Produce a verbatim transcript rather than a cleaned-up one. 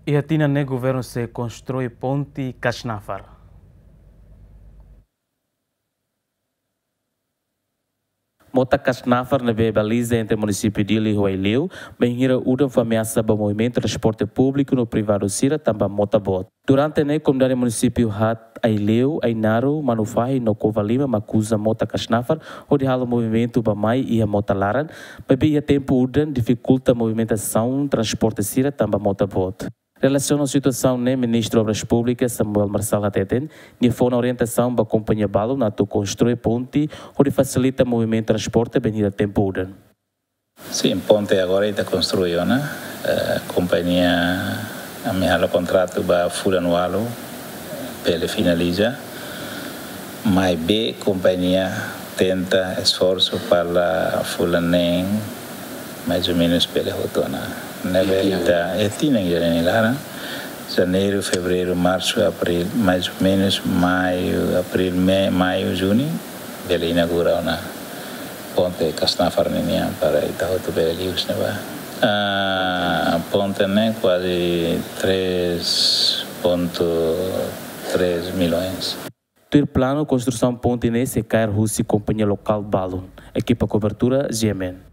Iha tinan ne'e governu sei konstrui ponte Kasnafar. Mota Kasnafar ne'ebé baliza entre munisípiu Dili ho Aileu, bainhira udan fó ameasa ba movimentu transporte públiku no privadu sira tanba mota boot. Durante ne'e komunidade munisípiu haat Aileu, Ainaro, Manufahi no Covalima mak uza mota Kasnafar hodi halo movimentu bá-mai iha mota laran, maibé iha tempu udan difikulta movimentasaun transporte sira tanba mota boot. Relasiona ho situasaun ne'e, Ministru Obras Públikas Samuel Marçal hateten, nia fó ona orientasaun ba kompañia balun atu konstrui ponte hodi fasilita movimentu transporte bainhira tempu udan. Sin, ponte agora ita konstrui ona. Eh, kompañia, ami halo kontratu ba fulan ualu, bele finaliza. Maibé kompañia tenta esforsu para fulan neen, mais ou menus bele hotu ona. Ne'ebé ita, eh, tinan ida nia laran. Janeiru, fevereiru, marsu, abril, mais ou menus maiu, abril, me-, maiu, junu, bele inaugura ona ponte Kasnafar ninian para ita hotu bele liu husi ne'ebá. Ah, ponte ne'e kuaze três ponto três milhões. Tuir planu, konstrusaun ponte ne'e sei kaer husi kompañia lokál balun. Ekipa kobertura, G M N.